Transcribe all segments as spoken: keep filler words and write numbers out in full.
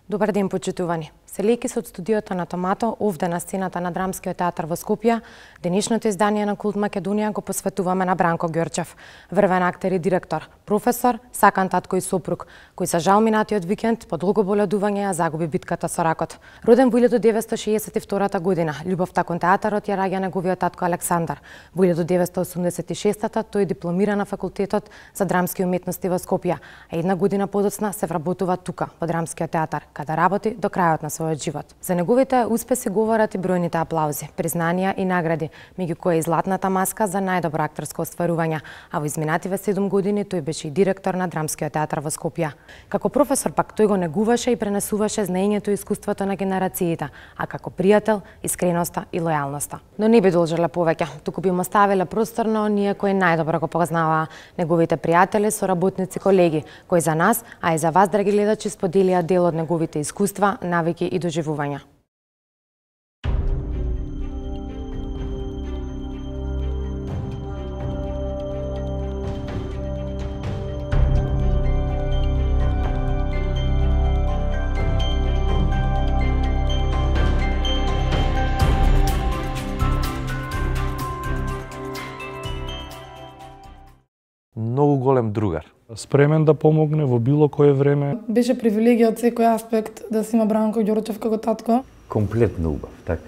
Добар ден, почитувани. Селејќи се од студиото на Томато, овде на сцената на Драмскиот театар во Скопје, денешното издание на Култ Македонија го посветуваме на Бранко Ѓорчев, врвен актер и директор, професор, сакан татко и сопруг, кој за жал минатиот викенд по долго боледување ја загуби битката со ракот. Роден во илјадесет деветстотини шеесет и втора година, љубовта кон театарот ја раѓа неговиот татко Александар. Во илјадесет деветстотини осумдесет и шеста тој дипломира на факултетот за драмски уметности во Скопје, а една година подоцна се вработува тука, во Драмскиот театар, каде работи до крајот на својот живот. За неговите успеси говорат и бројните аплаузи, признанија и награди, меѓу кои и златната маска за најдобро актерско остварување, а во изминативе седум години тој беше и директор на Драмскиот театар во Скопје. Како професор пак тој го негуваше и пренесуваше знаењето и искуството на генерациите, а како пријател искреноста и лојалноста. Но не би должеле повеќе, туку би му ставиле простор на оние кои најдобро го познаваа, неговите пријатели, соработници, колеги, кои за нас, а и за вас, драги гледачи, споделија дел од неговите искуства, навики и доживувања. Многу голем другар. Спремен да помогне во било кое време. Беше привилегија од секој аспект да си има Бранко Ѓорчев како татко. Комплетно убав, така,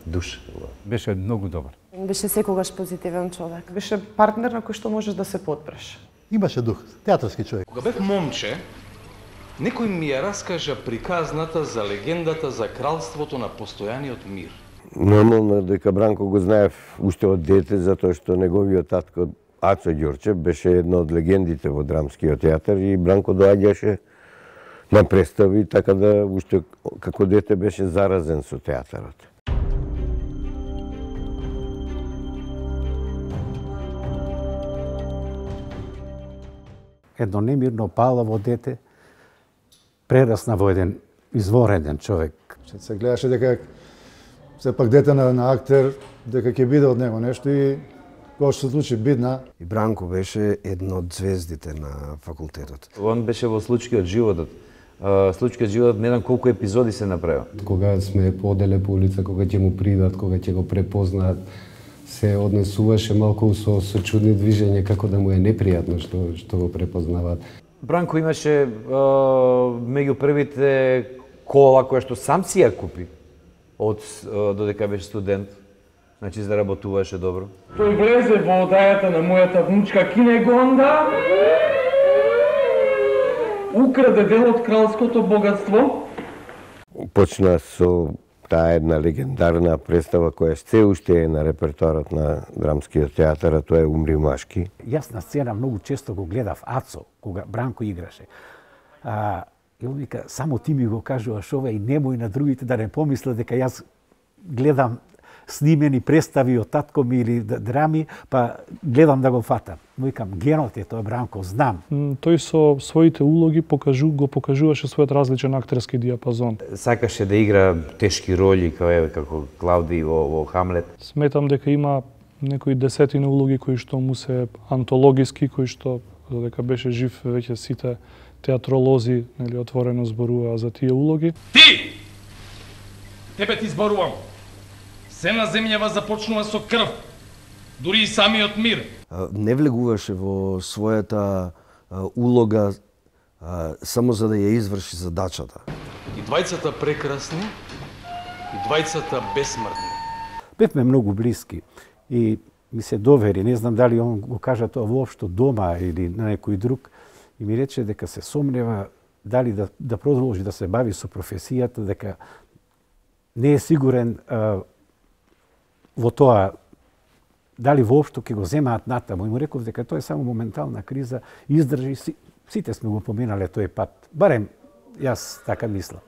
душа. Беше многу добар. Беше секогаш позитивен човек. Беше партнер на кој што можеш да се подпреш. Имаше дух, театарски човек. Кога бев момче, некој ми ја раскажа приказната за легендата за кралството на постојаниот мир. Нормално дека Бранко го знаев уште од дете, затоа што неговиот татко Ацо Ѓорчев беше една од легендите во Драмскиот театар и Бранко доаѓаше на представи, така да уште како дете беше заразен со театарот. Едно немирно палаво дете прерасна во еден извореден човек. Се гледаше дека сепак дете на, на актер, дека ќе биде од него нешто и кога што се случи бидна. И Бранко беше една од звездите на факултетот. Он беше во случај од животот. Случај од животот, не знам колку епизоди се направил. Кога сме поделе по улица, кога ќе му придат, кога ќе го препознаат, се однесуваше малку со, со чудни движења, како да му е непријатно што, што го препознаваат. Бранко имаше меѓу првите кола која што сам си ја купи од додека беше студент. Значи, заработуваше добро. Тој влезе во одајата на мојата внучка Кинегонда, украде дел од кралското богатство. Почна со таа една легендарна представа која се уште е на репертоарот на Драмскиот театар, а тоа е Умри машки. Јас на сцена многу често го гледав Ацо, кога Бранко играше. А, и он вика, само ти ми го кажуваш ова и немој на другите да не помислат дека јас гледам снимени представи од татко ми или драми, па гледам да го фатам. Но викам, генот е тоа, Бранко, знам. Тој со своите улоги покажу, го покажуваше својот различен актерски диапазон. Сакаше да игра тешки роли, како, како Клауди во, во Хамлет. Сметам дека има некои десетина улоги кои што му се антологиски, кои што, додека беше жив, веќе сите театролози нели, отворено зборуваа за тие улоги. Ти! Тебе ти зборувам! Се на земјава започнува со крв, дури и самиот мир. Не влегуваше во својата улога само за да ја изврши задачата. И двајцата прекрасни, и двајцата бесмртни. Бевме многу блиски и ми се довери, не знам дали он го кажа тоа воопшто дома или на некој друг, и ми рече дека се сомнева дали да, да продолжи да се бави со професијата, дека не е сигурен а, во тоа дали воопшто ќе го земаат натаму. И му реков дека тоа е само моментална криза, издржи, си, сите сме го поминале тој пат. Барем јас така мислам.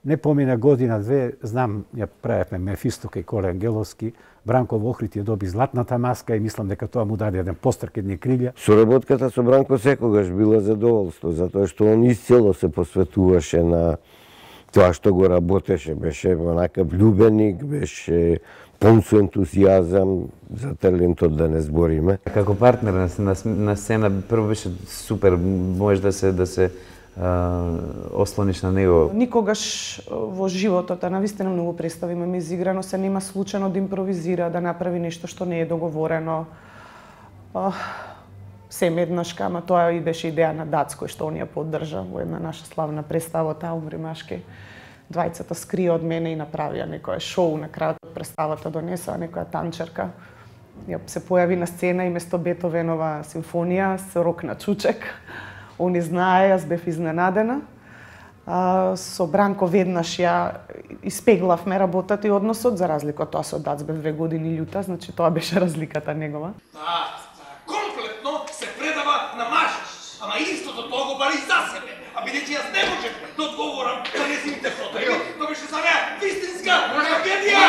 Не помина година-две, знам, ја правевме Мефисто кај Коле Ангеловски, Бранко во Охрид ја доби златната маска и мислам дека тоа му даде еден пострк, едни крилја. Соработката со Бранко секогаш била задоволство, затоа што он исцело се посветуваше на тоа што го работеше, беше онака влюбеник, беше пун со ентузијазам, за талентот да не збориме. Како партнер на, на, на сцена прво беше супер, може да се да се ослониш на него. Никогаш во животот, а навистина многу представи имаме изиграно, се нема случајно да импровизира, да направи нешто што не е договорено. Сем еднаш, ама тоа и беше идеја на Дац, кој што он ја поддржа во една наша славна представа, таа умри машки. Двајцата скрија од мене и направија некоја шоу на крајот од представата, донесоа некоја танчерка. Ја се појави на сцена и место Бетовенова симфонија со рок на чучек. Они знае, јас бев изненадена. А, со Бранко веднаш ја испеглавме работата и односот, за разлика од тоа со Дац бев две години љута, значи тоа беше разликата негова. Да, комплетно се предава на мажеш, ама истото тоа го бари за себе. А бидејќи јас не можев да одговорам на нејзините потреби, тоа беше за неа вистинска трагедија!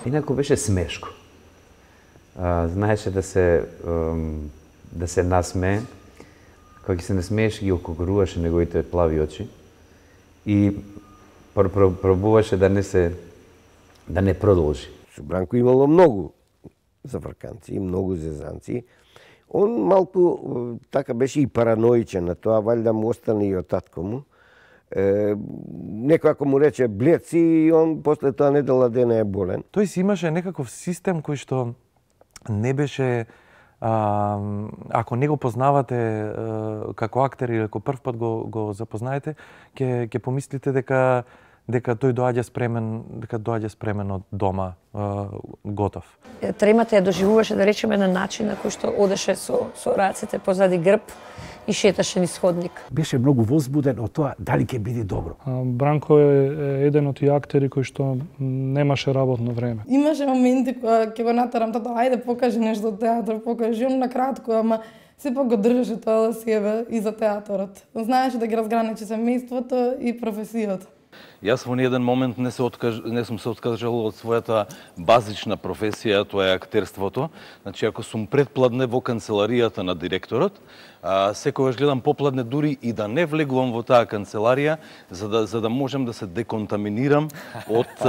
Инаку беше смешко. А, знаеше да се да се насмее. Кога ќе се насмееше ги окогруваше неговите плави очи и пр пр пробуваше да не се да не продолжи. Со Бранко имало многу заврканци, многу зезанци. Он малку така беше и параноичен на тоа, валјда му остане и од татко му. Е, некој ако му рече блед си, и он после тоа недела дена е болен. Тој си имаше некаков систем кој што не беше, а, ако не го познавате а, како актер или ако прв пат го, го запознаете, ќе ќе помислите дека дека тој доаѓа спремен, дека доаѓа спремен од дома, а, готов. Тремата ја доживуваше, да речеме, на начин на кој што одеше со со рацете позади грб и шеташе низ ходник. Беше многу возбуден од тоа дали ќе биде добро. Бранко е еден од тие актери кои што немаше работно време. Имаше моменти кога ќе го натарам тато, ајде покажи нешто од театар, покажи он на кратко, ама сепак го држеше тоа за себе и за театарот. Знаеше да ги разграничи семејството и професијата. Јас во ниеден момент не се откаж... не сум се откажал од својата базична професија, тоа е актерството. Значи, ако сум предпладне во канцеларијата на директорот, а, секогаш гледам попладне дури и да не влегувам во таа канцеларија, за да, за да можем да се деконтаминирам од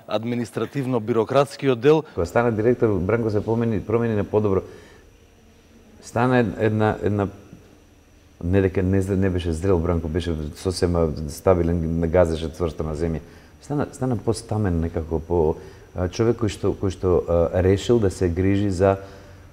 административно-бирократскиот дел. Кога стана директор, Бранко се промени, промени на подобро. Стана една, една не дека не, не беше зрел Бранко, беше сосема стабилен, газеше цврсто на земја. Стана, стана постамен некако, по човек кој што, кој што а, решил да се грижи за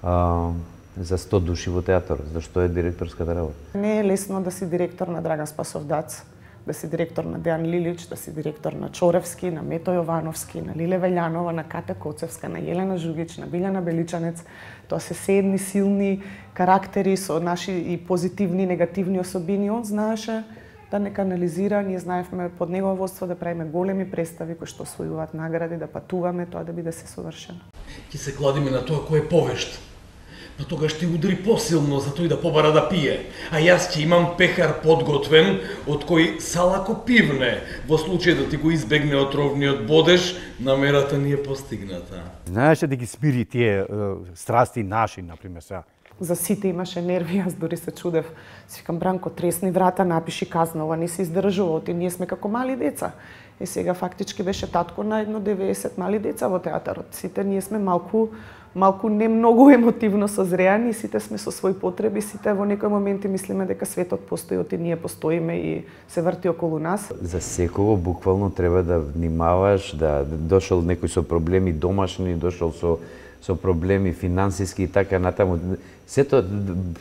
а, за сто души во театарот, зашто е директорската работа. Не е лесно да си директор на Драган Спасов Дац, да си директор на Дејан Лилич, да си директор на Чоревски, на Мето Јовановски, на Лиле Велјанова, на Ката Коцевска, на Јелена Жугич, на Билјана Беличанец. Тоа се се едни силни карактери со наши и позитивни и негативни особини. Он знаеше да не канализира, ние знаевме под негово водство да правиме големи представи кои што освојуваат награди, да патуваме, тоа да биде се совршено. Ќе се кладиме на тоа кој е повешт. Но тогаш ќе удари посилно за тој да побара да пие, а јас ќе имам пехар подготвен од кој салако пивне. Во случај да ти го избегне отровниот бодеж, намерата ни е постигната. Знаеше да ги смири тие е, страсти наши, например, сега. За сите имаше нерви, јас дури се чудев. Си викам, Бранко, тресни врата, напиши казна, ова не се издржува, оти ние сме како мали деца. И сега фактички беше татко на едно деветдесет мали деца во театарот. Сите ние сме малку малку не многу емотивно созреани и сите сме со своји потреби, сите во некој моменти мислиме дека светот постои, оти ние постоиме и се врти околу нас. За секого буквално треба да внимаваш, да дошол некој со проблеми домашни, дошол со со проблеми финансиски и така натаму. Сето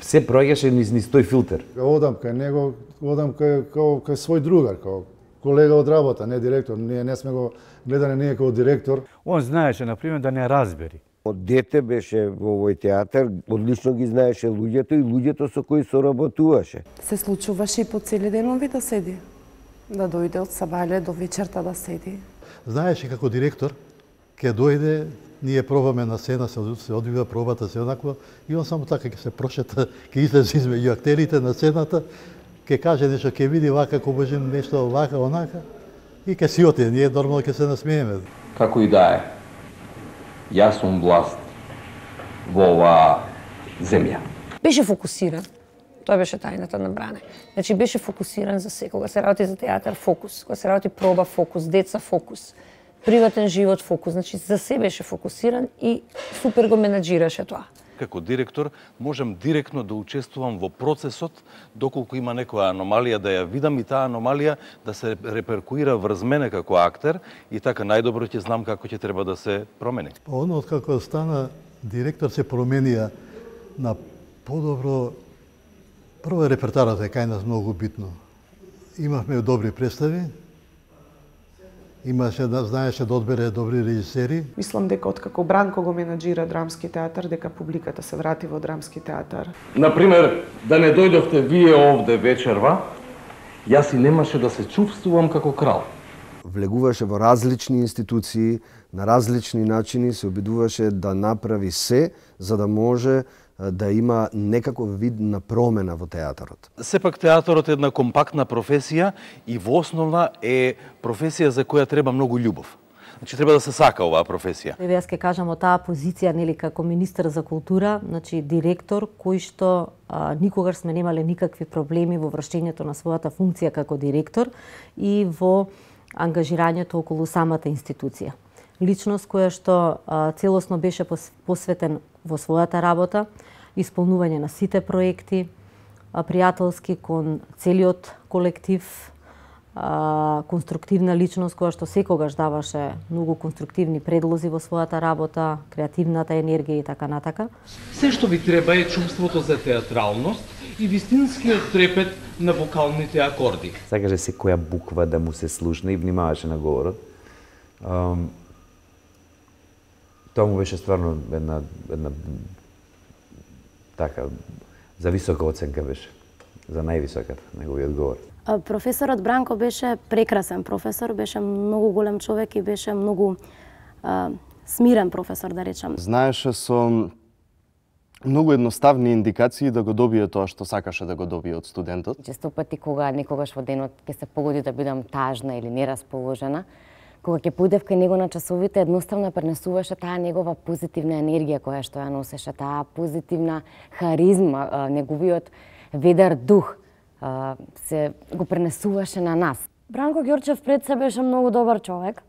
се проаѓаше низ низ тој филтер. Одам кај него, одам кај кај, кај свој другар, кај колега од работа, не директор. Ние не сме го гледани ние како директор. Он знаеше, например, да не разбери. Од дете беше во овој театар, одлично ги знаеше луѓето и луѓето со кои соработуваше. Се случуваше и по цели денови да седи. Да дојде од сабајле до вечерта да седи. Знаеше како директор, ќе дојде, ние пробаме на сцена, се, се одвива пробата, се однакво, и он само така ќе се прошета, ќе излезе измеѓу актерите на сцената, ќе каже нешто, ќе види вака, ако може нешто вака, онака, и ќе си оти, ние нормално ќе се насмееме. Како и да е, јас сум власт во оваа земја. Беше фокусиран. Тоа беше тајната на Бране. Значи беше фокусиран за секого. Кога се работи за театар, фокус. Кога се работи проба, фокус. Деца, фокус. приватен живот, фокус, значи за себе беше фокусиран и супер го менаџираше тоа. Како директор можам директно да учествувам во процесот, доколку има некоја аномалија да ја видам и таа аномалија да се реперкуира врз мене како актер и така најдобро ќе знам како ќе треба да се промени. Оно откако стана директор се променија на подобро. Прво репертарот е кај нас многу битно. Имавме добри представи, имаше да знаеше да одбере добри режисери. Мислам дека откако Бранко го менаџира драмски театар, дека публиката се врати во драмски театар. Например, да не дојдовте вие овде вечерва, јас и немаше да се чувствувам како крал. Влегуваше во различни институции, на различни начини се обидуваше да направи се за да може да има некаков вид на промена во театарот. Сепак театарот е една компактна професија и во основна е професија за која треба многу љубов. Значи треба да се сака оваа професија. Еве јас ќе кажам од таа позиција, нели, како министер за култура, значи директор кој што а, никогаш сме немале никакви проблеми во вршењето на својата функција како директор и во ангажирањето околу самата институција. Личност која што а, целосно беше посветен во својата работа, исполнување на сите проекти, а, пријателски кон целиот колектив, а, конструктивна личност која што секогаш даваше многу конструктивни предлози во својата работа, креативната енергија и така натака. Се што ви треба е чувството за театралност и вистинскиот трепет на вокалните акорди. Сакаше секоја буква да му се слушне и внимаваше на говорот. Um, Тоа му беше стварно една, една така, за висока оценка беше, за највисоката, неговиот говор. Професорот Бранко беше прекрасен професор, беше многу голем човек и беше многу а, смирен професор, да речам. Знаеше со многу едноставни индикации да го добие тоа што сакаше да го добие од студентот. Често пати кога некогаш во денот ќе се погоди да бидам тажна или нерасположена, кога ќе појдев кај него на часовите, едноставно пренесуваше таа негова позитивна енергија која што ја носеше, таа позитивна харизма, неговиот ведар дух се го пренесуваше на нас. Бранко Ѓорчев пред се беше многу добар човек.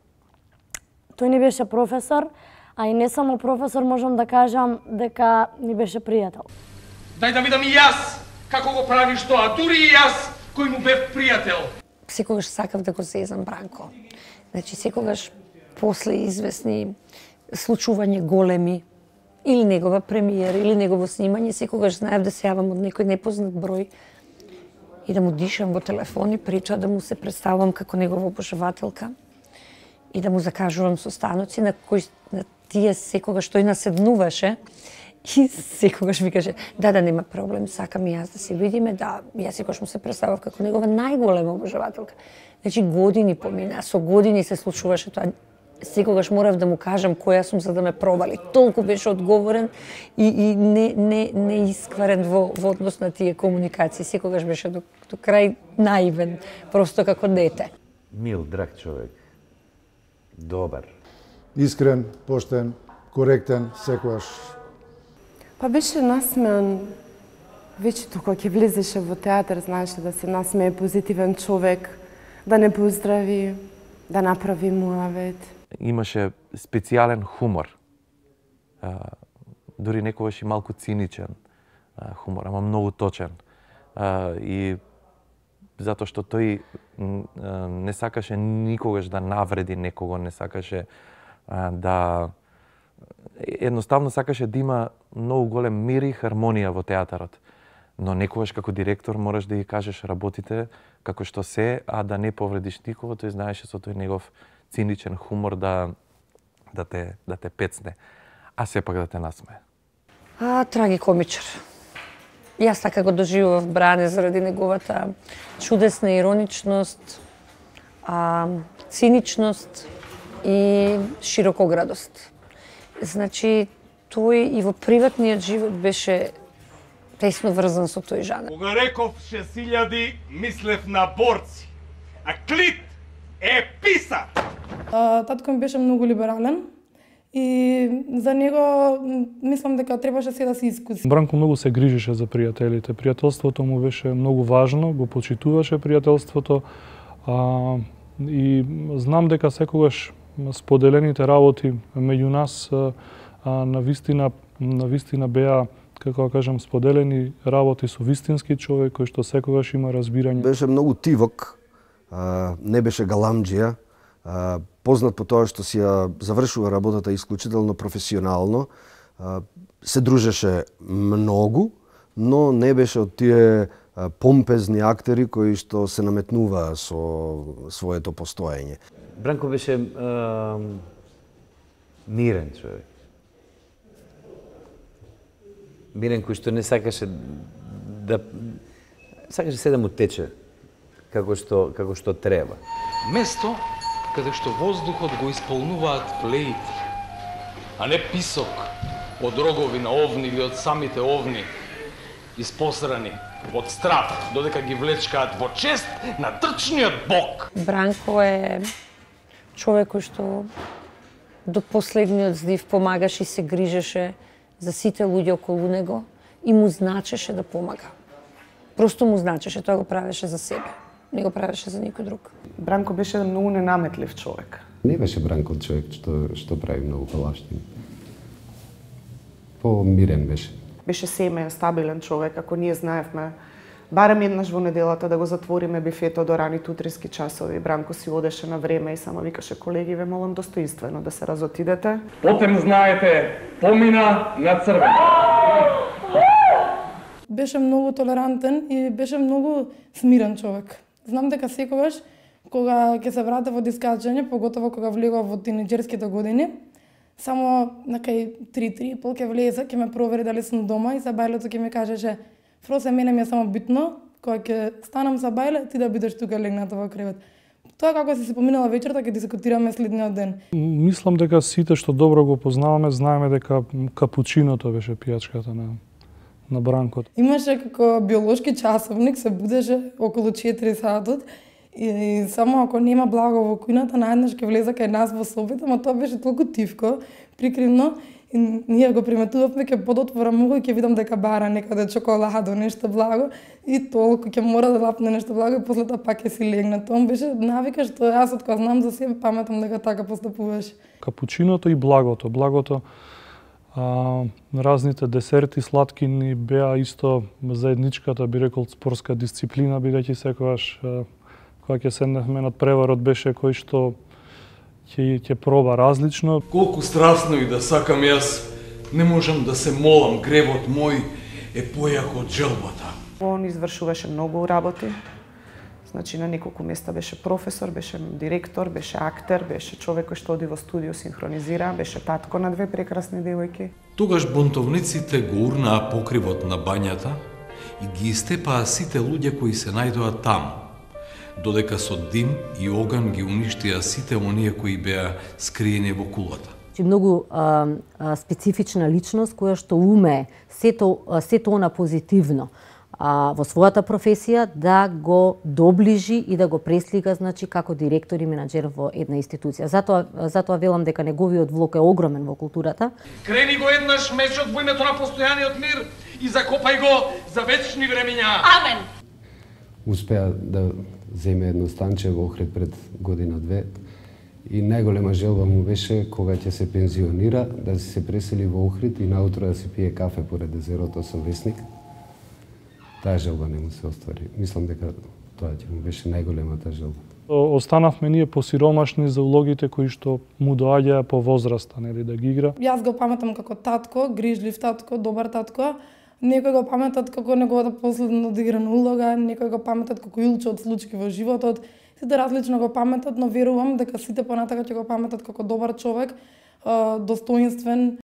Тој ни беше професор, а и не само професор, можам да кажам дека ни беше пријател. Дај да видам и јас како го правиш тоа, дури и јас кој му бев пријател. Секогаш сакав да го зезам Бранко. Значи, секогаш после известни случувања големи, или негова премиера, или негово снимање, секогаш знаев да се јавам од некој непознат број и да му дишам во телефон и при тоа да му се представувам како негова обожавателка и да му закажувам состаноци на кои на тие секогаш тој наседнуваше и секогаш ми каже, да, да, нема проблем, сакам и јас да се видиме, да, јас секогаш му се представав како негова најголема обожавателка. Значи, години помина, со години се случуваше тоа. Секогаш морав да му кажам која сум за да ме пробали. Толку беше одговорен и, и не, не, не искварен во, во однос на тие комуникации. Секогаш беше до, до крај наивен, просто како дете. Мил, драг човек. Добар. Искрен, поштен, коректен, секогаш. Па беше насмеан. Вечето кога ќе влезеше во театар, знаеше да се насмее, позитивен човек, да не поздрави, да направи муавет. Имаше специјален хумор. А, дури некогаш и малку циничен а, хумор, ама многу точен. А, и затоа што тој а, не сакаше никогаш да навреди некого, не сакаше а, да едноставно сакаше да има многу голем мир и хармонија во театарот. Но некогаш како директор мораш да ги кажеш работите како што се, а да не повредиш никого, тој знаеше со тој негов циничен хумор да да те да те пецне, а сепак да те насмее. А, трагикомичар. Јас така го доживував Бране заради неговата чудесна ироничност, а, циничност и широкоградост. Значи, тој и во приватниот живот беше тесно врзан со тој жанр. Кога реков шест илјади, мислев на борци, а Клит е писар! Татко ми беше многу либерален и за него мислам дека требаше се да се искуси. Бранко многу се грижеше за пријателите. Пријателството му беше многу важно, го почитуваше пријателството. А, и знам дека секогаш споделените работи меѓу нас а, на вистина на вистина беа, како да кажам, споделени работи со вистински човек кој што секогаш има разбирање. Беше многу тивок, не беше галамџија, познат по тоа што си ја завршува работата исклучително професионално, се дружеше многу, но не беше од тие помпезни актери кои што се наметнуваа со своето постоење. Бранко беше е, мирен човек. Мирен кој што не сакаше да сакаше се да му тече како што како што треба. Место каде што воздухот го исполнуваат плеити, а не писок од рогови на овни или од самите овни, испосрани од страв, додека ги влечкаат во чест на трчниот бог. Бранко е човек кој што до последниот здив помагаше и се грижеше за сите луѓе околу него и му значеше да помага. Просто му значеше, тоа го правеше за себе. Не го правеше за никој друг. Бранко беше многу ненаметлив човек. Не беше Бранко човек што што прави многу палаштини. Помирен беше. Беше семеен, стабилен човек, ако ние знаевме барем еднаш во неделата да го затвориме бифето до раните утрински часови. Бранко си одеше на време и само викаше: колеги, ве молам достоинствено да се разотидете. Потем, знаете, помина на црвено. Беше многу толерантен и беше многу смирен човек. Знам дека секогаш кога ќе се врата во дискачање, поготово кога влегува во тинеџерските години, само на кај три три и пол ќе влезе, ќе ме провери дали сум дома и Сабајлето ќе ми кажеше: Фросе, мене ми е само битно, кога ќе станам за бајле, ти да бидеш тука легната во кревет. Тоа како си се поминала вечерта, ќе дискутираме следниот ден. Мислам дека сите што добро го познаваме, знаеме дека капучиното беше пијачката на на Бранкот. Имаше како биолошки часовник, се будеше околу четири сатот и, и само ако нема благо во кујната, наеднаш ќе влезе кај нас во собите, ама тоа беше толку тивко, прикривно. И ние го приметувавме, ќе подотворам уго и ќе видам дека бара некаде чоколадо, нешто благо и толку ќе мора да лапне нешто благо и после тоа пак ќе си легне. Тоа беше навика што јас од кога знам за себе паметам дека така постапуваш. Капучиното и благото. Благото, а, разните десерти, сладкини беа исто заедничката, би рекол, спортска дисциплина, бидејќи секогаш а, кога ќе седневме над преварот беше кој што ќе ќе проба различно. Колку страстно и да сакам јас, не можам да се молам, гревот мој е појак од желбата. Он извршуваше многу работи. Значи на неколку места беше професор, беше директор, беше актер, беше човек кој што оди во студио синхронизира, беше татко на две прекрасни девојки. Тогаш бунтовниците го урнаа покривот на бањата и ги истепаа сите луѓе кои се најдоа таму, додека со дим и оган ги уништија сите оние кои беа скриени во кулата. Многу а, а, специфична личност која што уме сето сето она позитивно а, во својата професија да го доближи и да го преслика, значи, како директор и менаџер во една институција. Затоа затоа велам дека неговиот влог е огромен во културата. Крени го еднаш мечот во името на постојаниот мир и закопај го за вечни времења. Амен. Успеа да земе едно станче во Охрид пред година-две и најголема желба му беше кога ќе се пензионира да се пресели во Охрид и наутро да си пие кафе поред езерото со весник. Таа желба не му се оствари. Мислам дека тоа ќе му беше најголемата желба. Останавме ние посиромашни за улогите кои што му доаѓаа по возраста, нели, да ги игра. Јас го паметам како татко, грижлив татко, добар татко. Некој го паметат како неговата последна одиграна улога, некој го паметат како илче од случки во животот. Сите различно го паметат, но верувам дека сите понатака ќе го паметат како добар човек, достоинствен,